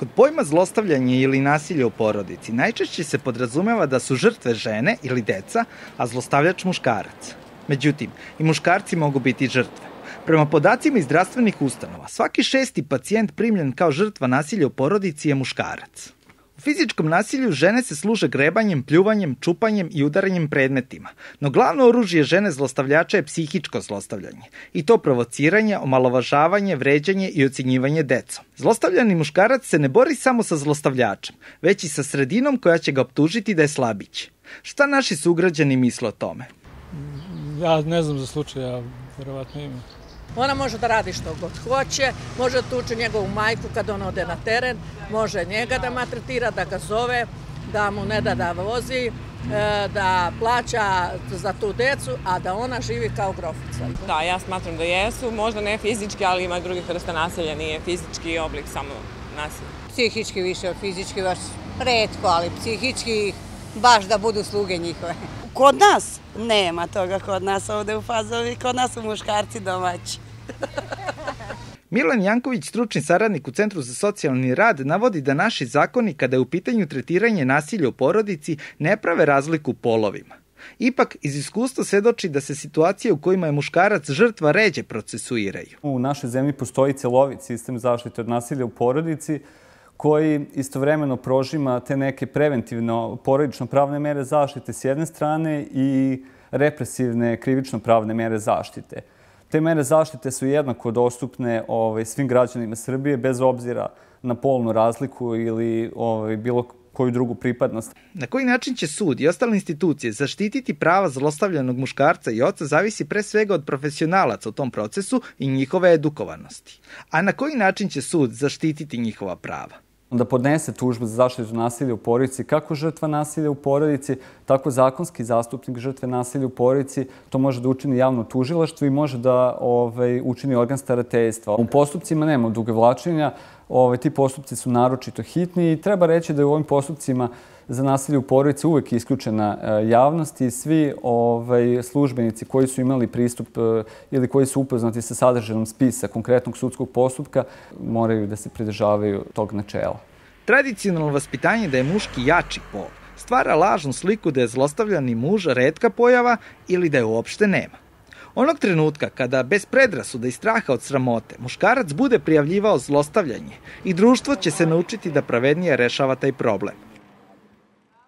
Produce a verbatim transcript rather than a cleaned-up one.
Kod pojma zlostavljanje ili nasilje u porodici najčešće se podrazumeva da su žrtve žene ili deca, a zlostavljač muškarac. Međutim, i muškarci mogu biti žrtve. Prema podacima iz zdravstvenih ustanova, svaki šesti pacijent primljen kao žrtva nasilja u porodici je muškarac. U fizičkom nasilju žene se služe grebanjem, pljuvanjem, čupanjem i udaranjem predmetima, no glavno oružje žene zlostavljača je psihičko zlostavljanje, i to provociranje, omalovažavanje, vređanje i ocjenjivanje decom. Zlostavljani muškarac se ne bori samo sa zlostavljačem, već i sa sredinom koja će ga optužiti da je slabić. Šta naši sugrađani misle o tome? Ja ne znam za slučaj, ja verovatno ima. Ona može da radi što god hoće, može da tuče njegovu majku kad on ode na teren, može njega da maltretira, da ga zove, da mu ne da da vozi, da plaća za tu decu, a da ona živi kao grofica. Da, ja smatram da jesu, možda ne fizički, ali ima drugih vrsta nasilja, nije fizički oblik samo nasilja. Psihički više od fizički, baš retko, ali psihički baš da budu sluge njihove. Kod nas nema toga, kod nas ovde u Fazovi, kod nas su muškarci domaći. Milan Janković, stručni saradnik u Centru za socijalni rad, navodi da naši zakoni, kada je u pitanju tretiranje nasilja u porodici, ne prave razliku polovima. Ipak, iz iskustva svedoči da se situacije u kojima je muškarac žrtva ređe procesuiraju. U našoj zemlji postoji celovit sistem zaštite od nasilja u porodici, koji istovremeno prožima te neke preventivno porodično-pravne mere zaštite s jedne strane i represivne krivično-pravne mere zaštite. Te mere zaštite su jednako dostupne ovaj, svim građanima Srbije bez obzira na polnu razliku ili ovaj, bilo koju drugu pripadnost. Na koji način će sud i ostale institucije zaštititi prava zlostavljanog muškarca i oca zavisi pre svega od profesionalaca u tom procesu i njihove edukovanosti. A na koji način će sud zaštititi njihova prava? Da podnese tužbu za zaštitu nasilja u porodici, kako žrtva nasilja u porodici, tako zakonski zastupnik žrtve nasilja u porodici. To može da učini javno tužilaštvo i može da ovaj, učini organ starateljstva. U postupcima nema odugovlačenja, ovaj, ti postupci su naročito hitni i treba reći da je u ovim postupcima za nasilje u porodici uvek isključena javnost i svi ovaj, službenici koji su imali pristup ili koji su upoznati sa sadržajem spisa konkretnog sudskog postupka moraju da se pridržavaju tog načela. Tradicionalno vaspitanje da je muški jači pol stvara lažnu sliku da je zlostavljani muž retka pojava ili da je uopšte nema. Onog trenutka kada bez predrasuda i straha od sramote muškarac bude prijavljivao zlostavljanje i društvo će se naučiti da pravednije rešava taj problem.